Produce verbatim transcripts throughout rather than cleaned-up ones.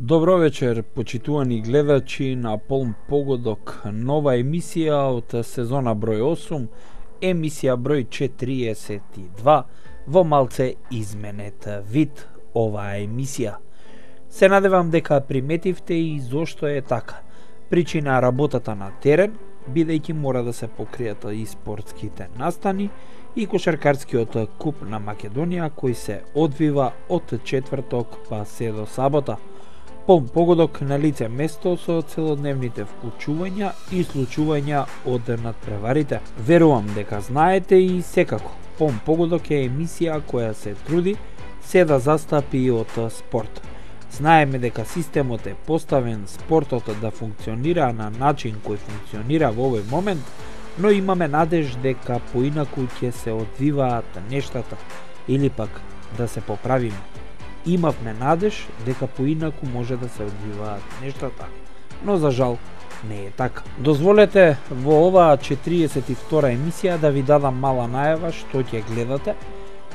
Добро вечер, почитувани гледачи на Полн погодок, нова емисија од сезона број осум, емисија број четириесет и два, во малце изменет вид оваа емисија. Се надевам дека приметивте и зошто е така. Причина работата на терен, бидејќи мора да се покријат и спортските настани и кошаркарскиот куп на Македонија кој се одвива од четврток па се до сабота. Полн погодок на лице место со целодневните вклучувања и случувања од надпреварите. Верувам дека знаете и секако, Полн погодок е емисија која се труди се да застапи од спорт. Знаеме дека системот е поставен спортот да функционира на начин кој функционира во овој момент, но имаме надеж дека поинаку ќе се одвиваат нештата или пак да се поправиме. Имавме надеж дека поинаку може да се одвиваат нештата, но за жал не е така. Дозволете во оваа четириесет и втора емисија да ви дадам мала најава што ќе гледате,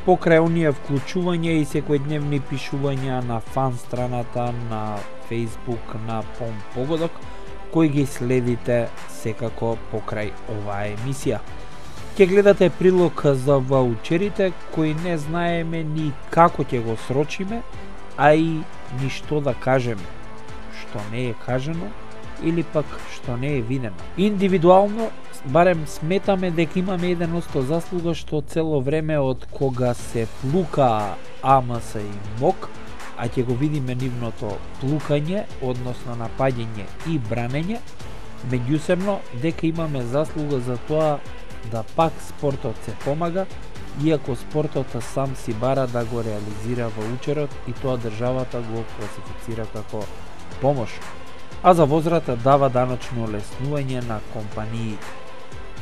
покрај оние вклучувања и секојдневни пишувања на фан страната на Facebook на Полн погодок, кои ги следите секако покрај оваа емисија. Ќе гледате прилог за ваучерите кои не знаеме ни како ќе го срочиме, а и ни што да кажеме, што не е кажано или пак што не е видено. Индивидуално, барем сметаме дека имаме еден осто заслуга што цело време од кога се плука АМС и МОК, а ќе го видиме нивното плукање, односно напаѓање и бранење, меѓусебно дека имаме заслуга за тоа да пак спортот се помага, иако спортот сам си бара да го реализира ваучерот и тоа државата го класифицира како помош, а за возврат дава даночно олеснување на компаниите.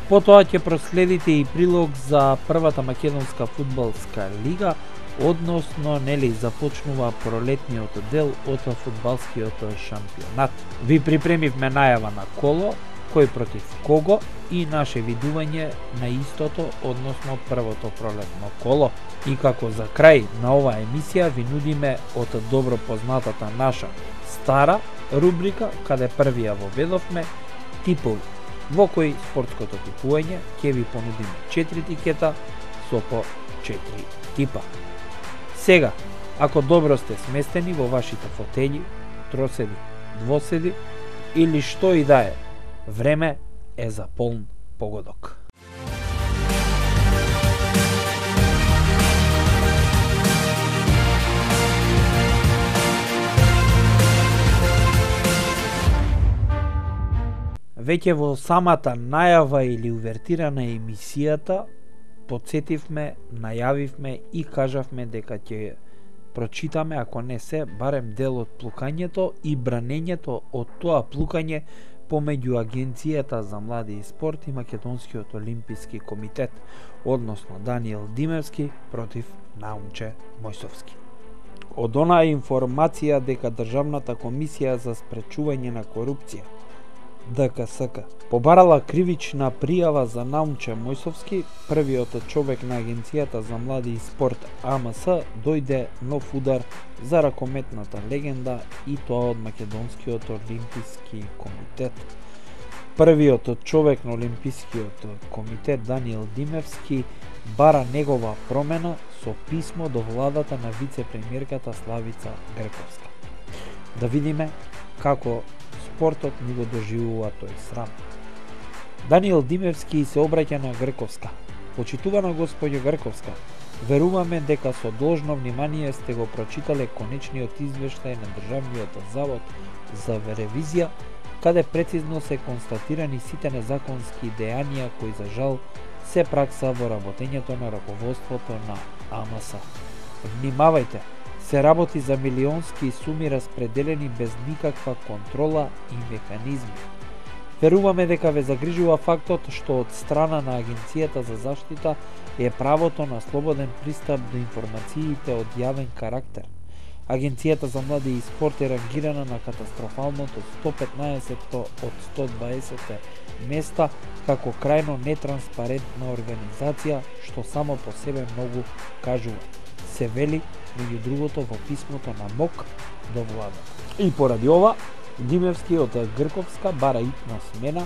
Потоа ќе проследите и прилог за првата македонска фудбалска лига, односно нели започнува пролетниот дел од фудбалскиот шампионат. Ви припремивме најава на коло, кој против кого и наше видување на истото, односно првото пролетно коло. И како за крај на оваа емисија ви нудиме од добро познатата наша стара рубрика, каде првија воведовме типови, во кој спортското типување ќе ви понудиме четири тикета со по четири типа. Сега, ако добро сте сместени во вашите фотељи, троседи, двоседи или што и да е, време е за полн погодок. Веќе во самата најава или увертира на емисијата подсетивме, најавивме и кажавме дека ќе прочитаме, ако не се, барем дел од плукањето и бранењето од тоа плукање помеѓу Агенцијата за млади и спорт и Македонскиот олимписки комитет, односно Даниел Димевски против Наумче Мојсовски. Од онаа информација дека Државната комисија за спречување на корупција, Д К С К, побарала кривична пријава за Наумче Мојсовски, првиот човек на Агенцијата за млади и спорт А М С дојде нов удар за ракометната легенда и тоа од Македонскиот олимписки комитет. Првиот човек на Олимпискиот комитет Даниел Димевски бара негова промена со писмо до владата на вице-премиерката Славица Грковска. Да видиме како спортот ни го доживува тој срам. Даниел Димевски се обраќа на Грковска. Почитувана господја Грковска, веруваме дека со должно внимание сте го прочитале конечниот извештај на Државниот завод за ревизија, каде прецизно се констатирани сите незаконски дејанија кои за жал се пракса во работењето на раководството на А М С. Внимавајте, се работи за милионски суми распределени без никаква контрола и механизми. Веруваме дека ве загрижува фактот што од страна на Агенцијата за заштита е правото на слободен пристап до информациите од јавен карактер. Агенцијата за млади и спорт е рангирана на катастрофалното сто петнаесетто од сто дваесет места како крајно нетранспарентна организација, што само по себе многу кажува. се вели меѓу другото во писмото на МОК до владата. И поради ова, Димевски од Грковска бара итна смена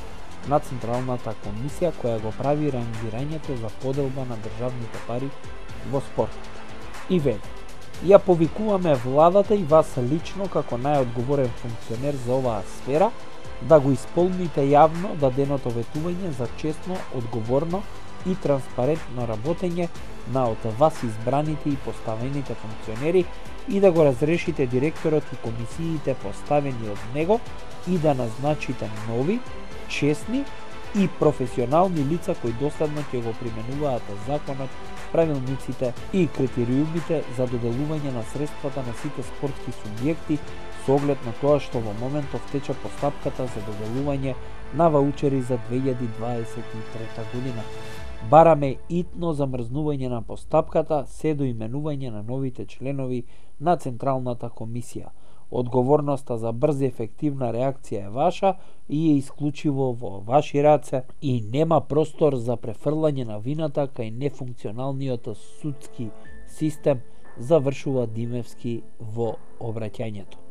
на Централната комисија која го прави рангирањето за поделба на државните пари во спортот. И вели: ја повикуваме владата и вас лично како најодговорен функционер за оваа сфера да го исполните јавно даденото ветување за честно, одговорно и транспарентно работење на од вас избраните и поставените функционери и да го разрешите директорот и комисиите поставени од него и да назначите нови, честни и професионални лица кои доследно ќе го применуваат законот, правилниците и критериумите за доделување на средствата на сите спортски субјекти со оглед на тоа што во моментов тече постапката за доделување на ваучери за две илјади дваесет и трета година. Бараме итно замрзнување на постапката се до именување на новите членови на Централната комисија. Одговорноста за брза и ефективна реакција е ваша и е исклучиво во ваши раце и нема простор за префрлање на вината кај нефункционалниот судски систем, завршува Димевски во обраќањето.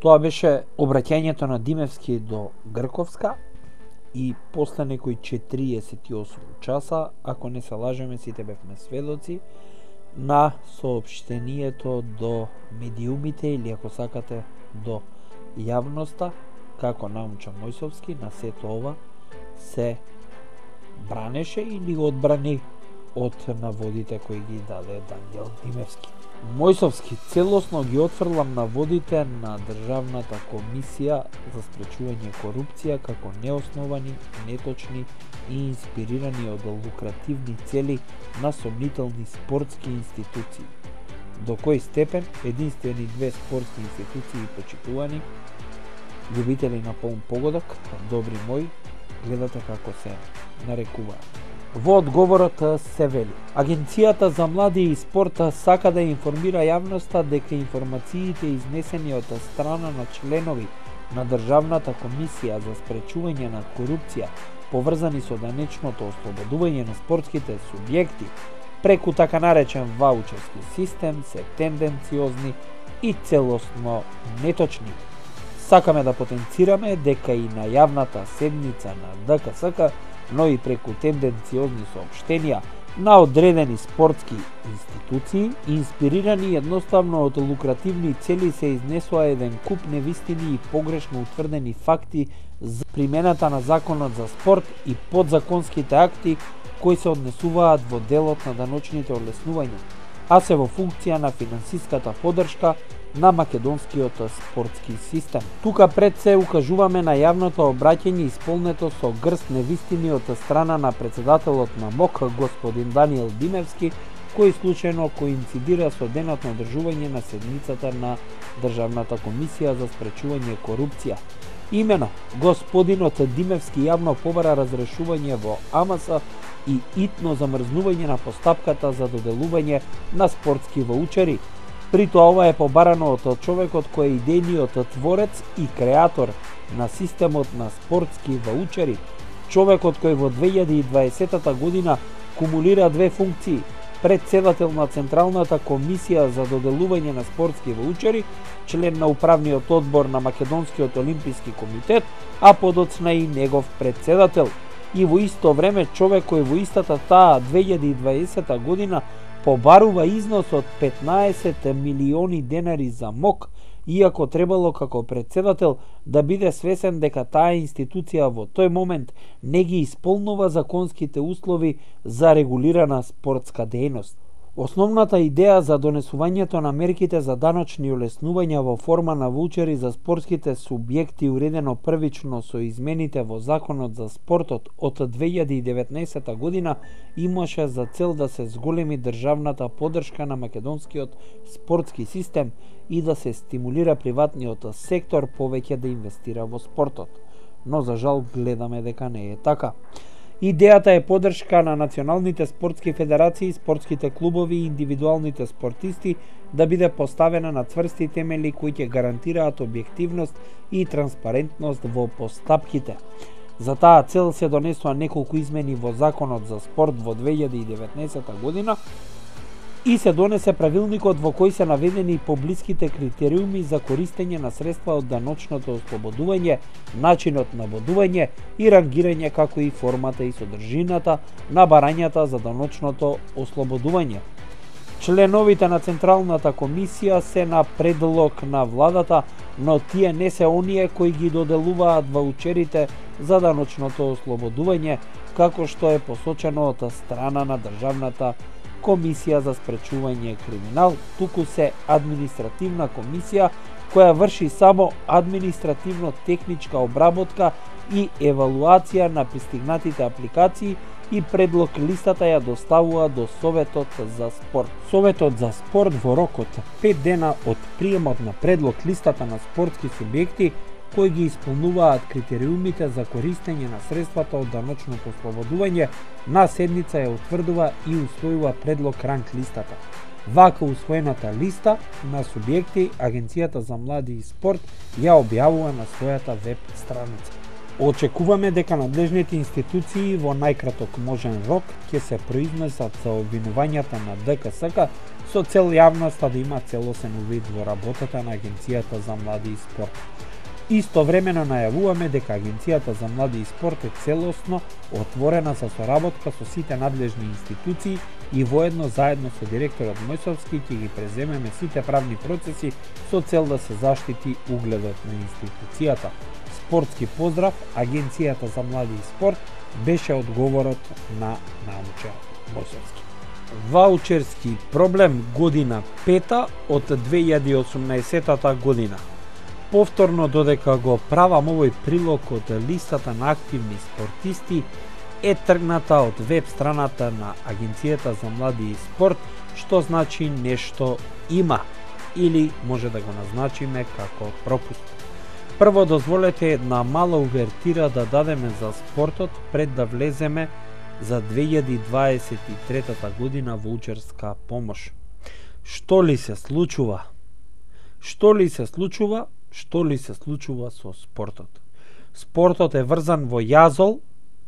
Тоа беше обраќањето на Димевски до Грковска и после некои четириесет и осум часа, ако не се лажеме, сите бевме сведоци на соопштението до медиумите или ако сакате до јавноста, како науча Мојсовски, на сето ова се бранеше или одбрани од наводите кои ги даде Даниел Димевски. Мојсовски целосно ги отфрлам наводите на Државната комисија за спречување корупција како неосновани, неточни и инспирирани од лукративни цели на сомнителни спортски институции. До кој степен единствени две спортски институции почитувани, љубители на полн погодок, добри мои, гледате како се нарекуваат. Во одговорот се вели: Агенцијата за млади и спорта сака да информира јавноста дека информациите изнесени од страна на членови на Државната комисија за спречување на корупција поврзани со данечното ослободување на спортските субјекти преку така наречен ваучерски систем се тенденциозни и целосно неточни. Сакаме да потенцираме дека и на јавната седница на Д К С К, но и преку тенденциозни соопштенија на одредени спортски институции, инспирирани едноставно од лукративни цели, се изнесува еден куп невистини и погрешно утврдени факти за примената на законот за спорт и подзаконските акти кои се однесуваат во делот на даночните олеснувања, а се во функција на финансиската поддршка на македонскиот спортски систем. Тука пред се укажуваме на јавното обраќање исполнето со грст невистини од страна на председателот на МОК, господин Даниел Димевски, кој случајно коинцидира со денот на одржување на седницата на Државната комисија за спречување корупција. Имено, господинот Димевски јавно побара разрешување во А М С и итно замрзнување на постапката за доделување на спортски ваучери. При тоа ова е побарано од човекот кој е идејниот творец и креатор на системот на спортски ваучери, човекот кој во две илјади и дваесета година кумулира две функции: председател на Централната комисија за доделување на спортски ваучери, член на управниот одбор на Македонскиот олимписки комитет, а подоцна и негов председател. И во исто време човек кој во истата таа две илјади и дваесета година побарува износ од петнаесет милиони денари за МОК, иако требало како председател да биде свесен дека таа институција во тој момент не ги исполнува законските услови за регулирана спортска дејност. Основната идеја за донесувањето на мерките за даночни олеснувања во форма на ваучери за спортските субјекти, уредено првично со измените во Законот за спортот од две илјади и деветнаесета година, имаше за цел да се зголеми државната поддршка на македонскиот спортски систем и да се стимулира приватниот сектор повеќе да инвестира во спортот. Но за жал гледаме дека не е така. Идејата е поддршка на националните спортски федерации, спортските клубови и индивидуалните спортисти да биде поставена на цврсти темели кои ќе гарантираат објективност и транспарентност во постапките. За таа цел се донесува неколку измени во Законот за спорт во две илјади и деветнаесета година, и се донесе правилникот во кој се наведени поблиските критериуми за користење на средства од даночното ослободување, начинот на бодување и рангирање, како и формата и содржината на барањата за даночното ослободување. Членовите на Централната комисија се на предлог на владата, но тие не се оние кои ги доделуваат ваучерите за даночното ослободување, како што е посочено од страна на Државната комисија за спречување криминал, туку се административна комисија која врши само административно-техничка обработка и евалуација на пристигнатите апликации и предлог листата ја доставува до Советот за спорт. Советот за спорт во рок од пет дена од приемот на предлог листата на спортски субјекти кои ги исполнуваат критериумите за користење на средствата од даночното ослободување, на седница ја утврдува и усвојува предлог ранг листата. Вака усвоената листа на субјекти Агенцијата за млади и спорт ја објавува на својата веб страница. Очекуваме дека надлежните институции во најкраток можен рок ќе се произнесат за обвинувањата на ДКСК со цел јавноста да има целосен увид во работата на Агенцијата за млади и спорт. Истовремено најавуваме дека Агенцијата за млади и спорт е целосно отворена за соработка со сите надлежни институции и воедно заедно со директорот Мојсовски ќе ги преземеме сите правни процеси со цел да се заштити угледот на институцијата. Спортски поздрав, Агенцијата за млади и спорт беше одговорот на научар Мојсовски. Ваучерски проблем година пета од две илјади и осумнаесетата година. Повторно, додека го правам овој прилог од листата на активни спортисти, е тргната од веб страната на Агенцијата за млади и спорт, што значи нешто има, или може да го назначиме како пропуст. Прво, дозволете една мала увертира да дадеме за спортот пред да влеземе за две илјади дваесет и третата година ваучерска помош. Што ли се случува? Што ли се случува? Што ли се случува со спортот? Спортот е врзан во јазол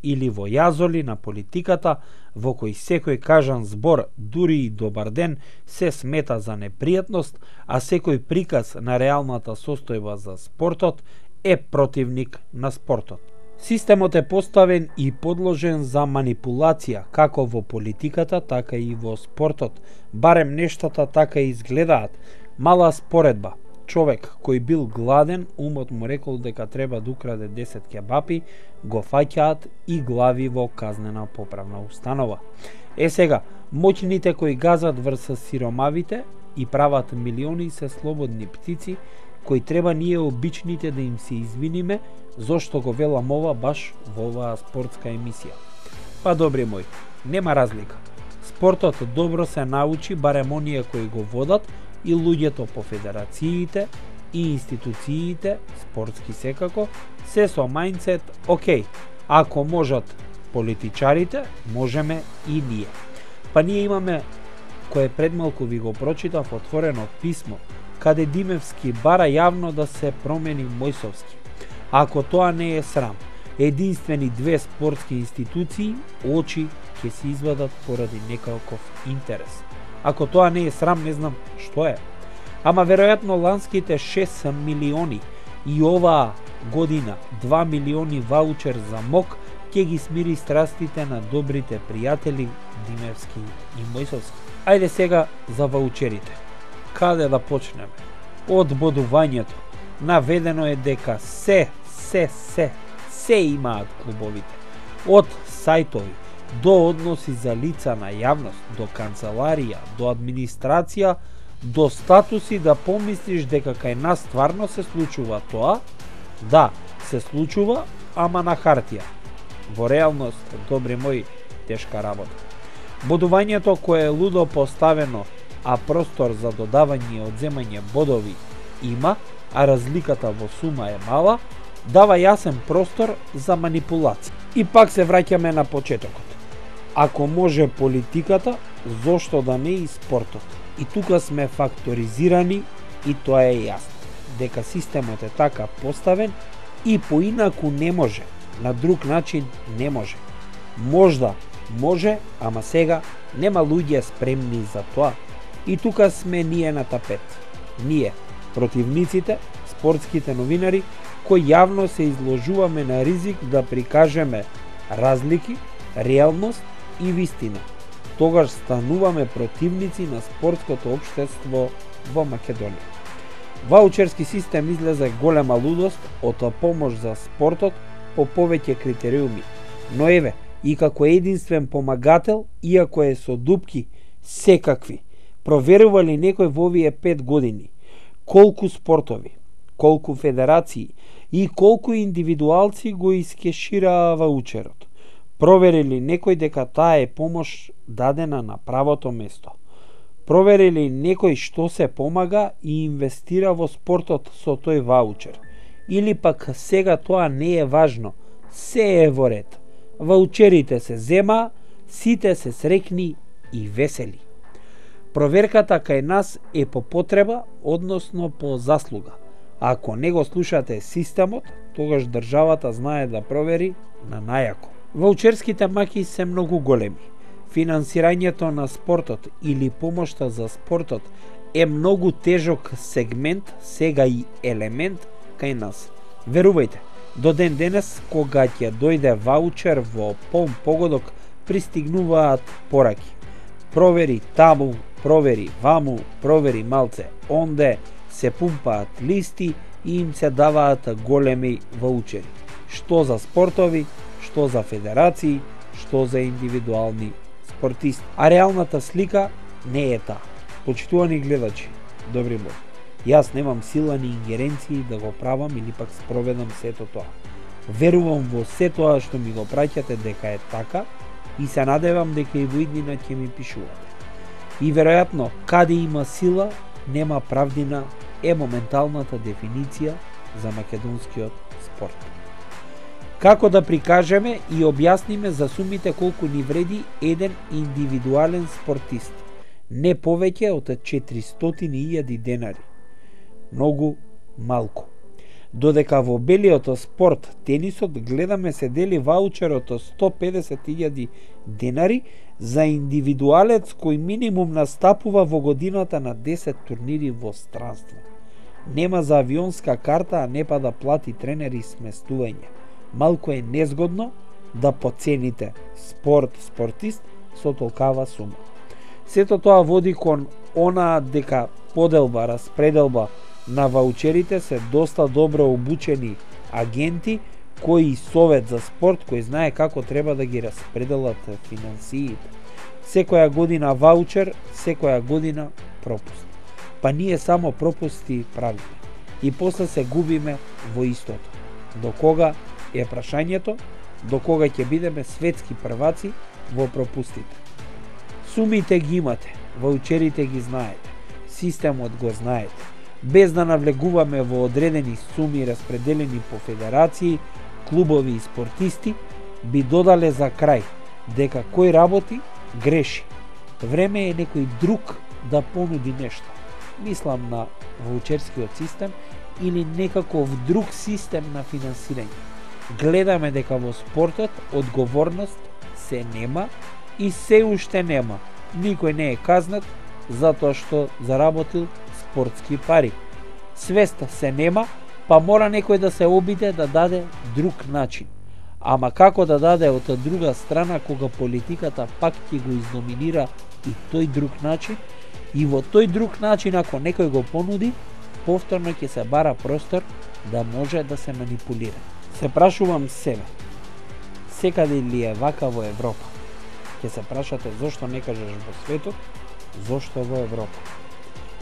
или во јазоли на политиката, во кој секој кажан збор, дури и добар ден, се смета за непријатност, а секој приказ на реалната состојба за спортот е противник на спортот. Системот е поставен и подложен за манипулација, како во политиката, така и во спортот. Барем нештата така изгледаат. Мала споредба. Човек кој бил гладен, умот му рекол дека треба да украде десет кебапи, го фаќаат и глави во казнена поправна установа. Е сега, моќните кои газат врз сиромавите и прават милиони се слободни птици, кои треба ние обичните да им се извиниме, зошто го велам ова баш во оваа спортска емисија. Па добри мој, нема разлика. Спортот добро се научи, барем оние кои го водат, и луѓето по федерациите и институциите, спортски секако, се со мајндсет, окей, ако можат политичарите, можеме и ние. Па ние имаме, кое предмалку ви го прочитав, отворено писмо, каде Димевски бара јавно да се промени Мојсовски. Ако тоа не е срам, единствени две спортски институции, очи ќе се извадат поради некаков интерес. Ако тоа не е срам, не знам што е. Ама веројатно ланските шест милиони и оваа година два милиони ваучер за МОК ќе ги смири страстите на добрите пријатели Димевски и Мојсовски. Ајде сега за ваучерите. Каде да почнеме? Од бодувањето. Наведено е дека се, се, се, се имаат клубовите. Од сајтови, до односи за лица на јавност, до канцеларија, до администрација, до статуси да помислиш дека кај нас стварно се случува тоа, да, се случува, ама на хартија. Во реалност, добри мои, тешка работа. Бодувањето кое е лудо поставено, а простор за додавање и одземање бодови има, а разликата во сума е мала, дава јасен простор за манипулација. И пак се враќаме на почетокот. Ако може политиката, зошто да не и спортот? И тука сме факторизирани и тоа е јасно. Дека системот е така поставен и поинаку не може, на друг начин не може. Можда може, ама сега Нема луѓе спремни за тоа. И тука сме ние на тапет. Ние, противниците, спортските новинари, кои јавно се изложуваме на ризик да прикажеме разлики, реалност и вистина. Тогаш стануваме противници на спортското општество во Македонија. Ваучерски систем излезе голема лудост од помош за спортот по повеќе критериуми. Но еве, и како единствен помагател, иако е со дупки секакви, проверува ли некој во овие пет години колку спортови, колку федерации и колку индивидуалци го искешираа ваучерот? Провери ли некој дека таа е помош дадена на правото место? Провери ли некој што се помага и инвестира во спортот со тој ваучер? Или пак сега тоа не е важно, се е во ред. Ваучерите се зема, сите се срекни и весели. Проверката кај нас е по потреба, односно по заслуга. Ако не го слушате системот, тогаш државата знае да провери на најако. Ваучерските маки се многу големи. Финансирањето на спортот или помошта за спортот е многу тежок сегмент, сега и елемент кај нас. Верувајте, до ден денес, кога ќе дојде ваучер во полн погодок, пристигнуваат пораки. Провери таму, провери ваму, провери малце онде, се пумпаат листи и им се даваат големи ваучери. Што за спортови, што за федерации, што за индивидуални спортисти. А реалната слика не е таа. Почитувани гледачи, добри мои, јас немам сила ни ингеренции да го правам или пак спроведам сето тоа. Верувам во се тоа што ми го праќате дека е така и се надевам дека и во иднина ќе ми пишувате. И веројатно, каде има сила, нема правдина е моменталната дефиниција за македонскиот спорт. Како да прикажеме и објасниме за сумите колку ни вреди еден индивидуален спортист? Не повеќе од четиристотини илјади денари. Многу малку. Додека во белиот спорт, тенисот, гледаме се дели ваучерот од сто педесет илјади денари за индивидуалец кој минимум настапува во годината на десет турнири во странство. Нема за авионска карта, а не па да плати тренери и сместување. Малку е незгодно да поцените спорт, спортист со толкава сума. Сето тоа води кон она дека поделба, распределба на ваучерите се доста добро обучени агенти кои совет за спорт кој знае како треба да ги распределат финансиите. Секоја година ваучер, секоја година пропуст. Па ние само пропусти правиме и после се губиме во истото. До кога е прашањето, до кога ќе бидеме светски прваци во пропустите. Сумите ги имате, ваучерите ги знаете, системот го знаете. Без да навлегуваме во одредени суми распределени по федерации, клубови и спортисти, би додале за крај дека кој работи, греши. Време е некој друг да понуди нешто. Мислам на ваучерскиот систем или некаков друг систем на финансирање. Гледаме дека во спортот одговорност се нема и се уште нема. Никој не е казнат затоа што заработил спортски пари. Свеста се нема, па мора некој да се обиде да даде друг начин. Ама како да даде од друга страна кога политиката пак ќе го издоминира и тој друг начин? И во тој друг начин ако некој го понуди, повторно ќе се бара простор да може да се манипулира. Се прашувам себе, секаде ли е вака во Европа? Ќе се прашате зошто не кажеш во светот, зошто во Европа?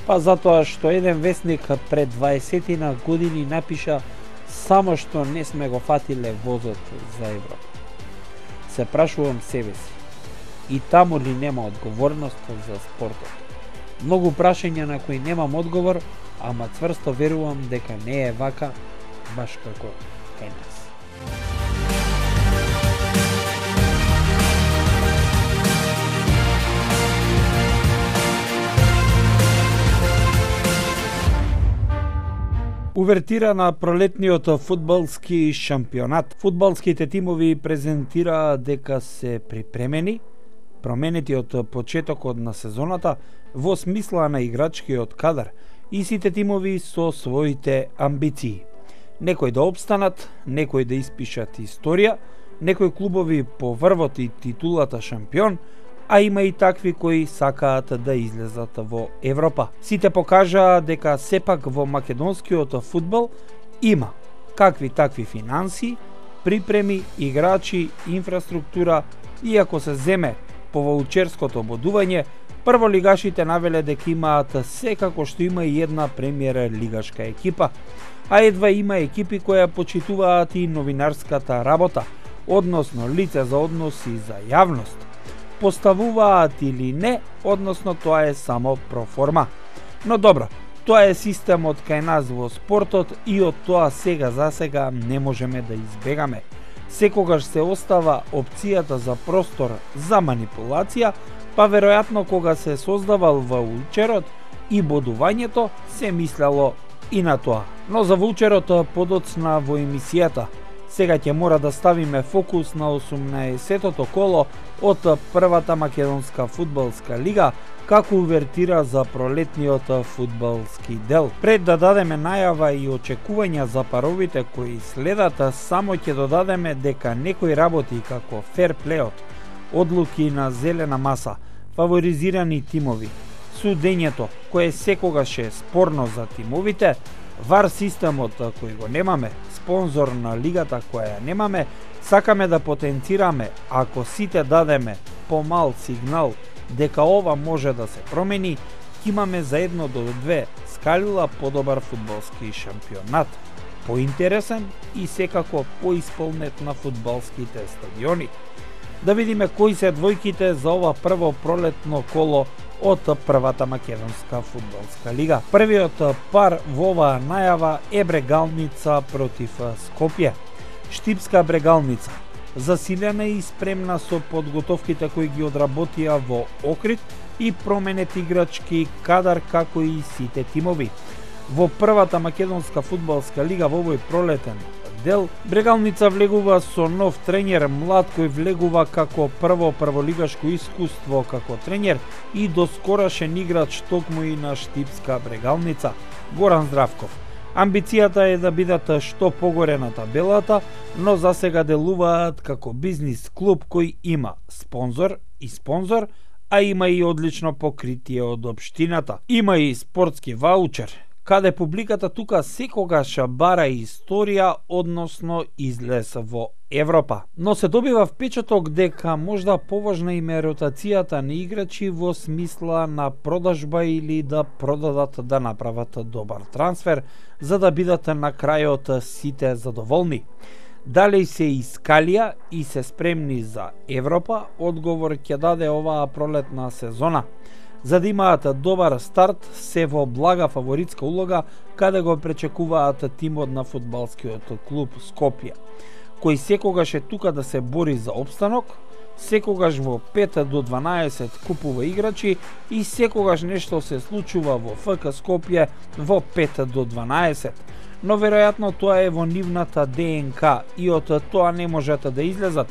Па затоа што еден весник пред дваесетина години напиша само што не сме го фатиле возот за Европа. Се прашувам себе си, и таму ли нема одговорност за спортот? Многу прашања на кои немам одговор, ама цврсто верувам дека не е вака баш како кај нас. Увертира на пролетниот фудбалски шампионат. Фудбалските тимови презентираа дека се припремени променети од почетокот на сезоната во смисла на играчкиот кадар и сите тимови со своите амбиции. Некои да обстанат, некои да испишат историја, некои клубови по врвот и титулата шампион, а има и такви кои сакаат да излезат во Европа. Сите покажаа дека сепак во македонскиот фудбал има какви такви финанси, припреми, играчи, инфраструктура, иако се земе по ваучерското бодување, прволигашите навеле дека имаат секако што има и една премиер лигашка екипа, а едва има екипи кои почитуваат и новинарската работа, односно лице за односи за јавност. Поставуваат или не, односно тоа е само проформа. Но добро, тоа е системот кај нас во спортот и од тоа сега за сега не можеме да избегаме. Секогаш се остава опцијата за простор за манипулација, па веројатно кога се создавал ваучерот и бодувањето се мислело и на тоа. Но за ваучерот подоцна во емисијата. Сега ќе мора да ставиме фокус на осумнаесеттото коло од првата македонска фудбалска лига како увертира за пролетниот фудбалски дел. Пред да дадеме најава и очекувања за паровите кои следат, само ќе додадеме дека некои работи како ферплеот, одлуки на зелена маса, фаворизирани тимови, судењето кое секогаш е спорно за тимовите, вар системот кој го немаме, спонзор на лигата која ја немаме, сакаме да потенцираме ако сите дадеме помал сигнал дека ова може да се промени, ќе имаме за едно до две скалила подобар фудбалски шампионат, поинтересен и секако поисполнет на фудбалските стадиони. Да видиме кои се двојките за ова прво пролетно коло од првата македонска фудбалска лига. Првиот пар во оваа најава е Брегалница против Скопје. Штипска Брегалница, засилена и спремна со подготовките кои ги одработија во Охрид и променет играчки кадар како и сите тимови. Во првата македонска фудбалска лига во овој пролетен дел, Брегалница влегува со нов тренер, млад кој влегува како прво прволигашко искуство како тренер и доскорашен играч токму и на Штипска Брегалница, Горан Здравков. Амбицијата е да бидат што погоре на табелата, но за сега делуваат како бизнис клуб кој има спонзор и спонзор, а има и одлично покритие од општината. Има и спортски ваучер, каде публиката тука секогаш бара историја, односно излез во Европа. Но се добива впечаток дека можда поважна им е ротацијата на играчи во смисла на продажба или да продадат да направат добар трансфер, за да бидат на крајот сите задоволни. Дали се искалија и се спремни за Европа, одговор ќе даде оваа пролетна сезона. За да имаат добар старт, се во блага фаворитска улога каде го пречекуваат тимот на фудбалскиот клуб Скопје, кој секогаш е тука да се бори за опстанок, секогаш во пет до дванаесет купува играчи и секогаш нешто се случува во ФК Скопје во пет до дванаесет. Но веројатно тоа е во нивната ДНК и од тоа не можат да излезат,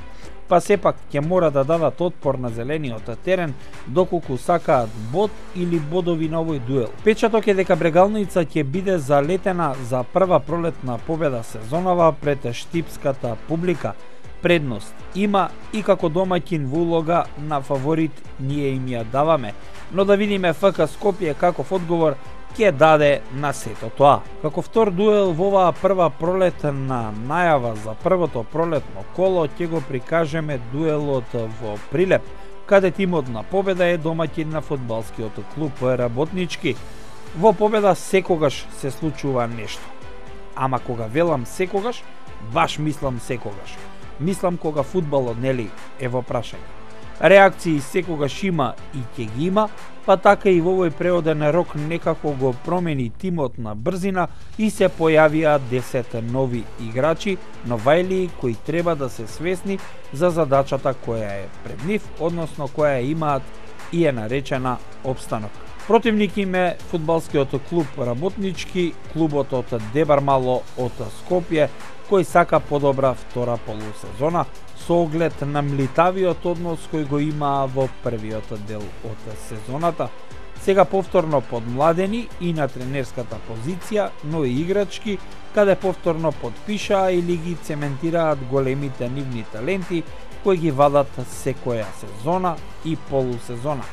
па сепак ќе мора да дадат отпор на зелениот терен доколку сакаат бод или бодови на овој дуел. Печаток е дека Брегалница ќе биде залетена за прва пролетна победа сезонава пред штипската публика. Предност има и како домаќин во улога на фаворит ние им ја даваме, но да видиме ФК Скопје каков одговор ќе даде на сето тоа. Како втор дуел во оваа прва пролетна најава за првото пролетно коло ќе го прикажеме дуелот во Прилеп, каде тимот на Победа е домаќин на фудбалскиот клуб Работнички. Во Победа секогаш се случува нешто. Ама кога велам секогаш, баш мислам секогаш. Мислам кога фудбалот нели е во прашање. Реакции секогаш има и ќе ги има, па така и во овој преоден рок некако го промени тимот на брзина и се појавија десет нови играчи, новајлии кои треба да се свесни за задачата која е пред нив, односно која имаат и е наречена опстанок. Противник им е фудбалскиот клуб Работнички, клубот од Дебармало од Скопје, кој сака подобра втора полусезона со оглед на млитавиот однос кој го имаа во првиот дел од сезоната. Сега повторно подмладени и на тренерската позиција, но и играчки, каде повторно подпишаа или ги цементираат големите нивни таленти кои ги вадат секоја сезона и полусезона.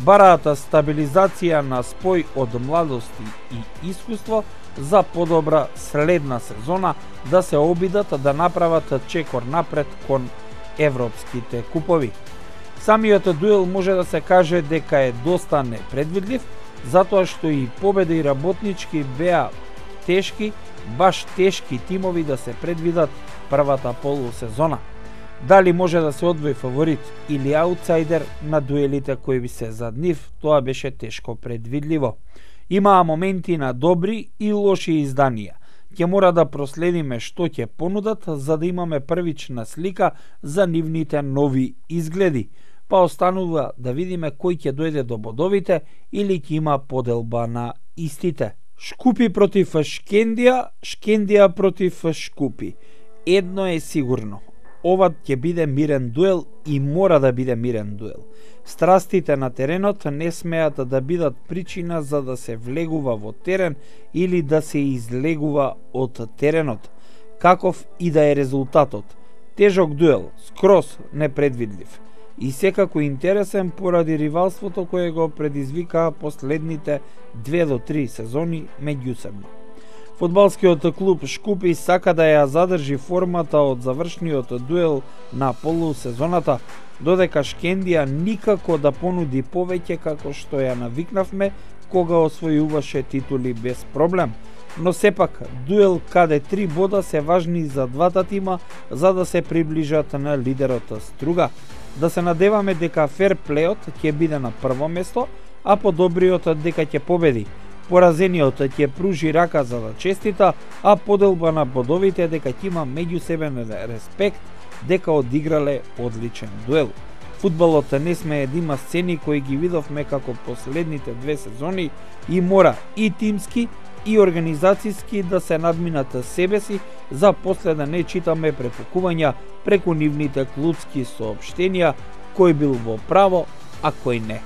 Бараат стабилизација на спој од младости и искуство за подобра следна сезона да се обидат да направат чекор напред кон европските купови. Самиот дуел може да се каже дека е доста непредвидлив, затоа што и Победа и Работнички беа тешки, баш тешки тимови да се предвидат првата полусезона. Дали може да се одвои фаворит или аутсайдер на дуелите кои би се зад нив, тоа беше тешко предвидливо. Имаа моменти на добри и лоши изданија. Ќе мора да проследиме што ќе понудат за да имаме првична слика за нивните нови изгледи, па останува да видиме кој ќе дојде до бодовите или ќе има поделба на истите. Шкупи против Шкендија, Шкендија против Шкупи. Едно е сигурно. Ова ќе биде мирен дуел и мора да биде мирен дуел. Страстите на теренот не смеат да бидат причина за да се влегува во терен или да се излегува од теренот. Каков и да е резултатот. Тежок дуел, скроз непредвидлив. И секако интересен поради ривалството кое го предизвикаа последните две до три сезони меѓусебно. Фудбалскиот клуб Шкупи сака да ја задржи формата од завршниот дуел на полусезоната, додека Шкендија никако да понуди повеќе како што ја навикнавме кога освојуваше титули без проблем. Но сепак, дуел каде три бода се важни за двата тима за да се приближат на лидерот Струга. Да се надеваме дека ферплеот ќе биде на прво место, а подобриот дека ќе победи. Поразениот ќе пружи рака за да честита, а поделба на бодовите дека ќе има меѓусебен респект дека одиграле одличен дуел. Фудбалот не смее да има сцени кои ги видовме како последните две сезони и мора и тимски и организацијски да се надминат себе си за после да не читаме препукувања преку нивните клубски соопштенија кој бил во право, а кој не.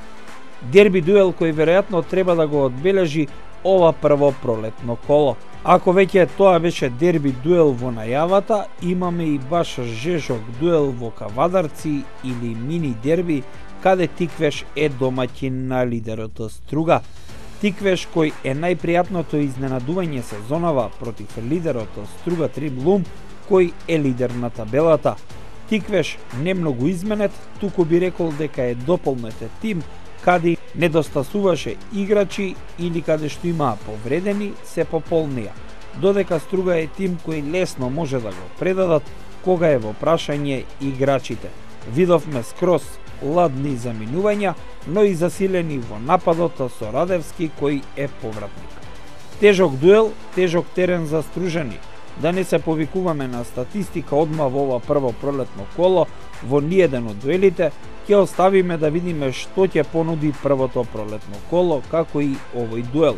Дерби дуел кој веројатно треба да го одбележи ова прво пролетно коло. Ако веќе тоа беше дерби дуел во најавата, имаме и баш жежок дуел во Кавадарци или мини дерби, каде Тиквеш е домаќин на лидерот Струга. Тиквеш кој е најпријатното изненадување сезонава против лидерот Струга Триблум, кој е лидер на табелата. Тиквеш не многу изменет, туку би рекол дека е дополнет тим, каде недостасуваше играчи или каде што имаа повредени, се пополнија. Додека Струга е тим кој лесно може да го предадат кога е во прашање играчите. Видовме скроз ладни заминувања, но и засилени во нападот со Радевски кој е повратник. Тежок дуел, тежок терен за стружани. Да не се повикуваме на статистика одма во ова прво пролетно коло, во ниеден од дуелите, ќе оставиме да видиме што ќе понуди првото пролетно коло, како и овој дуел.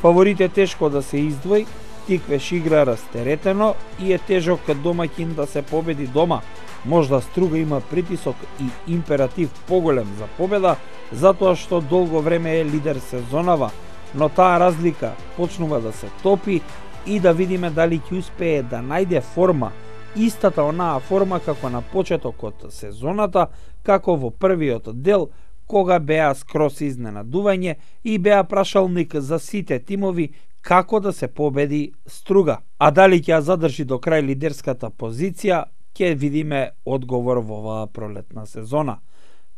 Фаворит е тешко да се издвои, Тиквеш игра растеретено и е тежок домаќин да се победи дома. Можда Струга има притисок и императив поголем за победа, затоа што долго време е лидер сезонава, но таа разлика почнува да се топи и да видиме дали ќе успее да најде форма, истата онаа форма како на почетокот сезоната, како во првиот дел, кога беа скроз изненадување и беа прашалник за сите тимови како да се победи Струга. А дали ќе ја задржи до крај лидерската позиција, ќе видиме одговор во оваа пролетна сезона.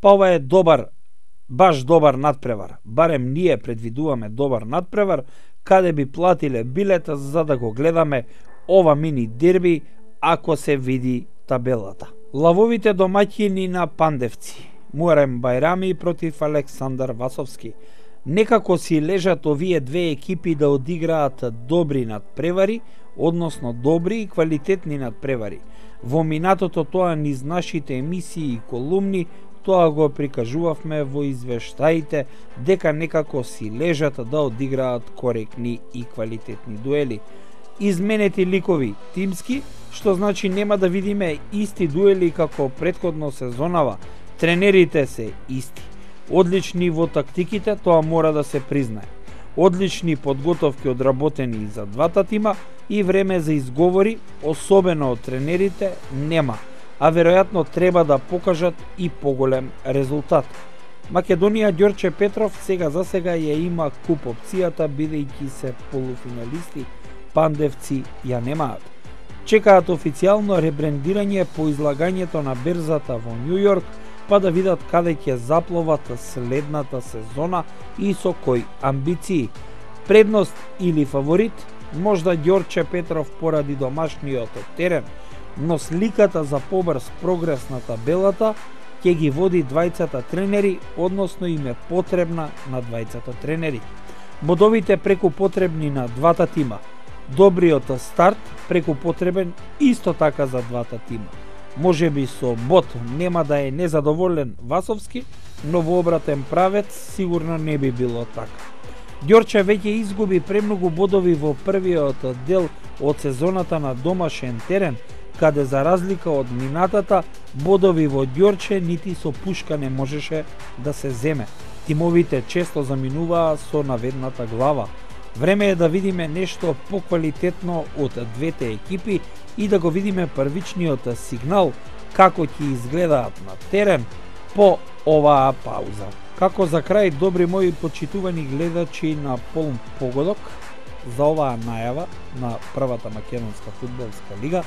Па ова е добар, баш добар надпревар. Барем ние предвидуваме добар надпревар, каде би платиле билет за да го гледаме ова мини дерби, ако се види табелата. Лавовите домаќини на Пандевци. Муарем Бајрами против Александар Васовски. Некако си лежат овие две екипи да одиграат добри надпревари, односно добри и квалитетни надпревари. Во минатото тоа низ нашите емисии и колумни, тоа го прикажувавме во извештаите дека некако си лежат да одиграат коректни и квалитетни дуели. Изменети ликови тимски, што значи нема да видиме исти дуели како претходно сезонава. Тренерите се исти. Одлични во тактиките, тоа мора да се признае. Одлични подготовки одработени за двата тима и време за изговори, особено од тренерите, нема, а веројатно треба да покажат и поголем резултат. Македонија Ѓорче Петров сега за сега ја има куп опцијата, бидејќи се полуфиналисти, пандевци ја немаат. Чекаат официјално ребрендирање по излагањето на берзата во Њу Јорк, па да видат каде ќе запловат следната сезона и со кои амбиции. Предност или фаворит, можда Ѓорче Петров поради домашниот терен, но сликата за побрз прогрес на табелата ќе ги води двајцата тренери, односно им е потребна на двајцата тренери. Бодовите преку потребни на двата тима. Добриот старт преку потребен исто така за двата тима. Може би со бод нема да е незадоволен Васовски, но во обратен правец сигурно не би било така. Ѓорче веќе изгуби премногу бодови во првиот дел од сезоната на домашен терен, каде за разлика од минатата, бодови во Ѓорче нити со пушка не можеше да се земе. Тимовите често заминуваа со наведната глава. Време е да видиме нешто поквалитетно од двете екипи и да го видиме првичниот сигнал како ќе изгледаат на терен по оваа пауза. Како за крај, добри мои почитувани гледачи на Полн погодок, за оваа најава на првата македонска фудбалска лига,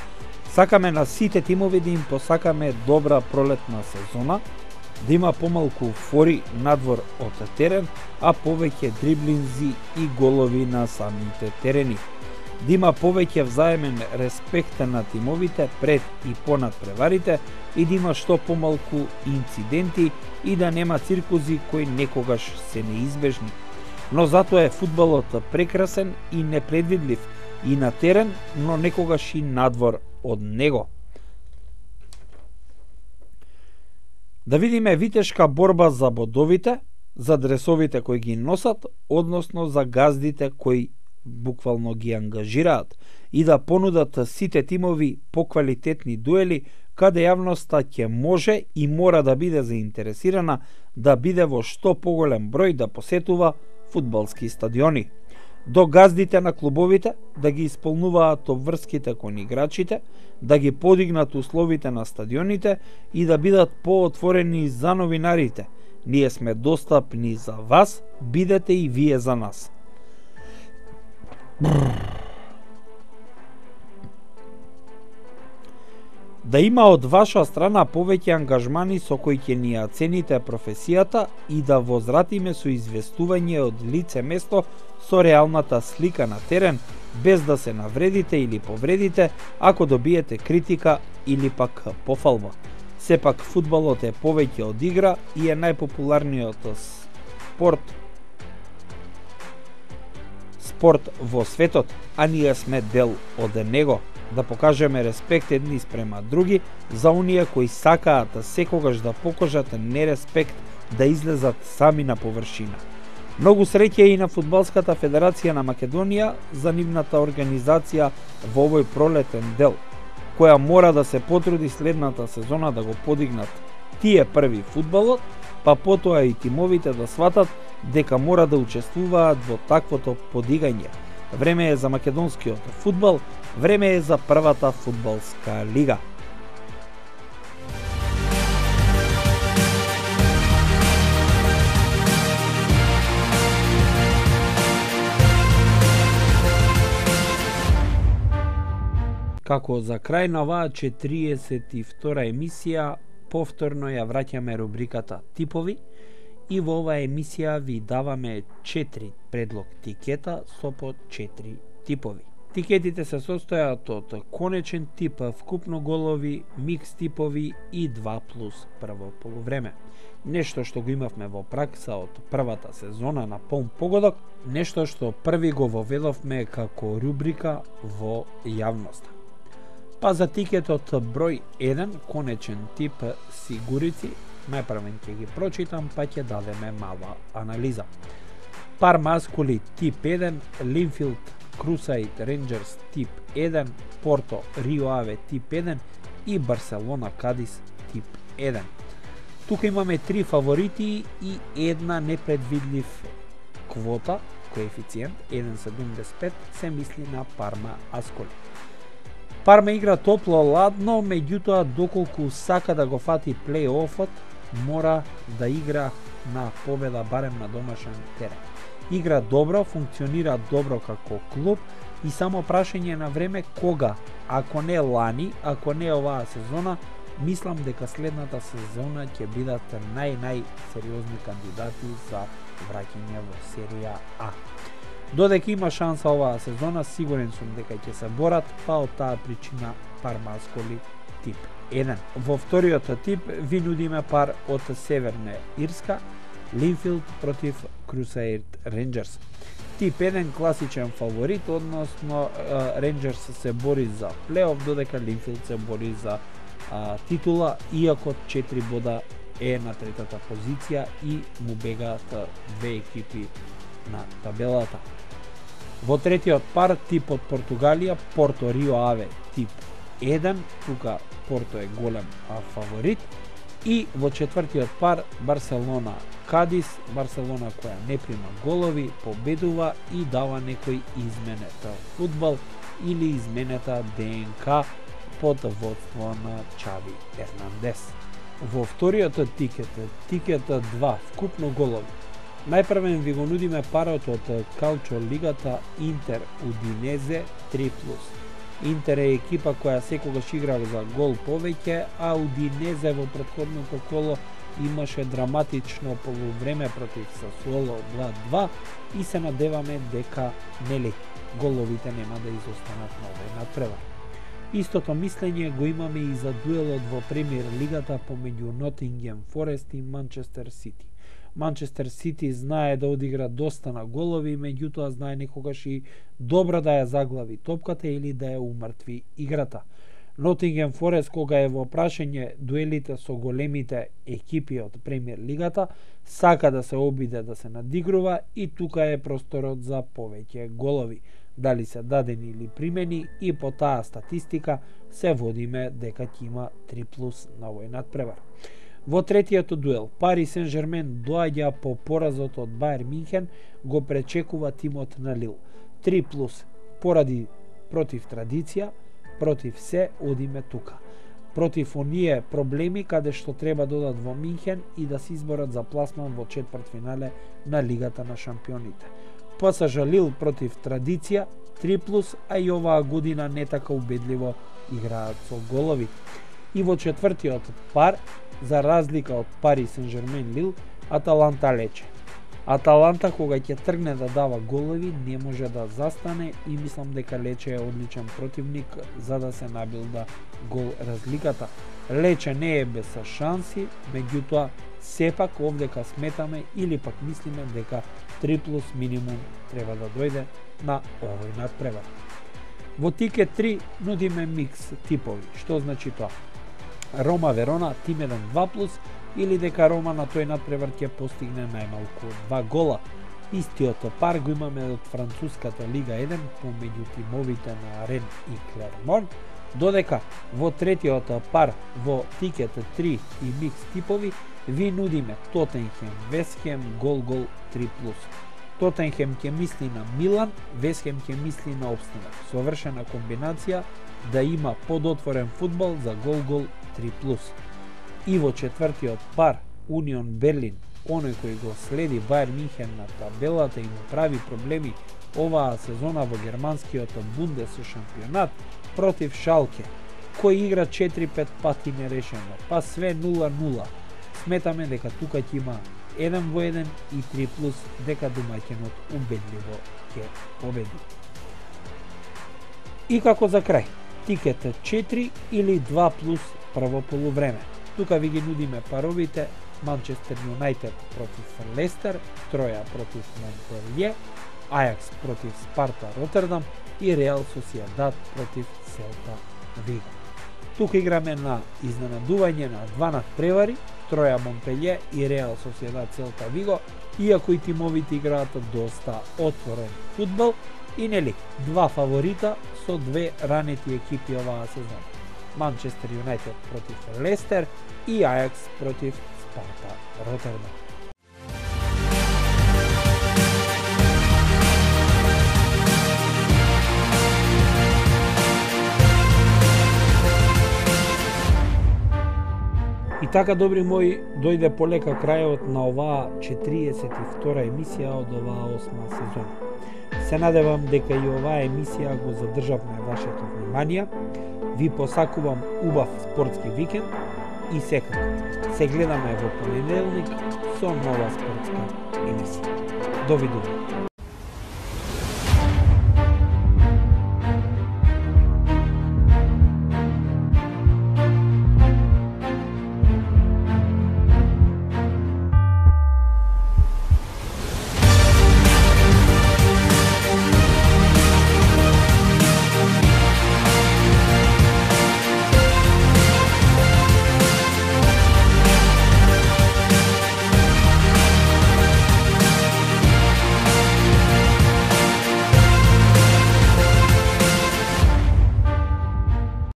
сакаме на сите тимови да им посакаме добра пролетна сезона, да има помалку фори надвор од терен, а повеќе дриблинзи и голови на самите терени. Да има повеќе взаемен респект на тимовите пред и понад преварите и да има што помалку инциденти и да нема циркузи кои некогаш се неизбежни. Но затоа е фудбалот прекрасен и непредвидлив и на терен, но некогаш и надвор од него. Да видиме витешка борба за бодовите, за дресовите кои ги носат, односно за газдите кои буквално ги ангажираат и да понудат сите тимови поквалитетни дуели, каде јавноста ќе може и мора да биде заинтересирана да биде во што поголем број да посетува фудбалски стадиони. До газдите на клубовите да ги исполнуваат обврските кон играчите, да ги подигнат условите на стадионите и да бидат поотворени за новинарите. Ние сме достапни за вас, бидете и вие за нас. Да има од ваша страна повеќе ангажмани со кои ќе ни ја цените професијата и да возвратиме со известување од лице место со реалната слика на терен, без да се навредите или повредите ако добиете критика или пак пофалба. Сепак фудбалот е повеќе од игра и е најпопуларниот спорт спорт во светот, а ние сме дел од него. Да покажеме респект едни спрема други за оние кои сакаат секогаш да покажат нереспект, да излезат сами на површина. Многу среќа и на Фудбалската федерација на Македонија за нивната организација во овој пролетен дел, која мора да се потруди следната сезона да го подигнат тие први фудбалот, па потоа и тимовите да сватат дека мора да учествуваат во таквото подигање. Време е за македонскиот фудбал, време е за првата фудбалска лига. Како за крај на оваа четириесет и втора емисија, повторно ја враќаме рубриката Типови и во оваа емисија ви даваме четири предлог тикета со по четири типови. Тикетите се состојат од конечен тип, вкупно голови, микс типови и два плюс прво полувреме. Нешто што го имавме во пракса од првата сезона на Полн погодок, нешто што први го воведовме како рубрика во јавноста. Па за тикетот број еден, конечен тип сигурици, најпрвен ќе ги прочитам, па ќе дадеме мала анализа. Пар маскули тип еден, Линфилд Crusader Rangers тип еден, Порто Рио Аве тип еден и Барселона Кадис тип еден. Тука имаме три фаворити и една непредвидлив квота, коефициент еден целу седумдесет и пет, се мисли на Парма Асколи. Парма игра топло-ладно, меѓутоа доколку сака да го фати плей-офот, мора да игра на победа барем на домашен терен. Игра добро, функционира добро како клуб и само прашање на време кога, ако не лани, ако не оваа сезона, мислам дека следната сезона ќе бидат нај-најсериозни кандидати за враќање во серија А. Додека има шанса оваа сезона, сигурен сум дека ќе се борат, па од таа причина Парма Асколи тип еден. Во вториот тип ви нудиме пар од Северна Ирска, Линфилд против Crusader Rangers. Тип еден класичен фаворит, односно Рейнџерс се бори за плей-оф, додека Линфилд се бори за а, титула, иако четири бода е на третата позиција и му бегаат две екипи на табелата. Во третиот пар, тип од Португалија, Порто Рио Аве тип еден, тука Порто е голем а, фаворит, и во четвртиот пар Барселона Кадис, Барселона која не прима голови, победува и дава некој изменета фудбал или изменета ДНК под водство на Чави Ернандес. Во вториот тикет, тикет два, вкупно голови, најпрвен ви го нудиме парот од Калчо лигата Интер Удинезе три плюс. Интер е екипа која секогаш игра за гол повеќе, а Удинезе во претходното коло имаше драматично полувреме против Сасуоло два-два и се надеваме дека нели головите нема да изостанат на овој надпревар. Истото мислење го имаме и за дуелот во премиер лигата помеѓу Нотингем Форест и Манчестер Сити. Манчестер Сити знае да одигра доста на голови, меѓутоа знае некогаш и добро да ја заглави топката или да ја умртви играта. Нотингем Форест, кога е во прашање дуелите со големите екипи од премиер лигата, сака да се обиде да се надигрува и тука е просторот за повеќе голови, дали се дадени или примени, и по таа статистика се водиме дека ќе има три плюс на овој надпревар. Во третиот дуел, Пари Сен-Жермен доаѓа по поразот од Бајер Минхен, го пречекува тимот на Лил. три плюс, поради против традиција, против се одиме тука. Против оние проблеми каде што треба да одат во Минхен и да се изборат за пласман во четвртфинале на Лигата на шампионите. ПСЖ Лил против традиција, три плюс, а и оваа година не така убедливо играат со голови. И во четвртиот пар, за разлика од Пари Сен-Жермен Лил, Аталанта Лече. Аталанта кога ќе тргне да дава голови не може да застане и мислам дека Лече е одличен противник за да се набилда гол разликата. Лече не е без шанси, меѓутоа сепак овдека сметаме или пак мислиме дека три плюс минимум треба да дојде на овој надпревар. Во тикет три нудиме микс типови. Што значи тоа? Рома Верона тим еден два плюс или дека Рома на тој надпревар ќе постигне најмалку два гола. Истиот пар го имаме од француската Лига еден помеѓу тимовите на Рен и Клермон, додека во третиот пар во тикет три и микс типови ви нудиме Тотенхем Вестхем гол-гол три плюс. Тотенхем ќе мисли на Милан, Вестхем ќе мисли на опстанок. Совршена комбинација да има подотворен фудбал за гол-гол три плюс. И во четвртиот пар Унион Берлин, оној кој го следи Бајер Минхен на табелата и му прави проблеми оваа сезона во германскиот Бундес шампионат против Шалке, кој игра четири-пет пати нерешено, па све нула нула. Сметаме дека тука ќе има еден во еден и три плюс, дека домаќинот убедливо ќе победи. И како за крај, тикет четири или два плюс прво полувреме. Тука ви ги нудиме паровите Манчестер Юнайтед против Лестер, Троја против Монпелје, Ајакс против Спарта Ротердам и Реал Сосиедад против Селта Виго. Тука играме на изненадување на два надпревари, Троја Монпелје и Реал Соседад Целта Виго, иако и тимовите играат доста отворен фудбал и нели два фаворита со две ранети екипи оваа сезона. Манчестер Юнайтед против Лестер и Ајакс против Спарта Ротердам. И така, добри мои, дојде полека крајот на оваа четириесет и втора емисија од оваа осма сезона. Се надевам дека и оваа емисија го задржавме вашето внимание. Ви посакувам убав спортски викенд и секако се гледаме во понеделник со нова спортска емисија. Довидување.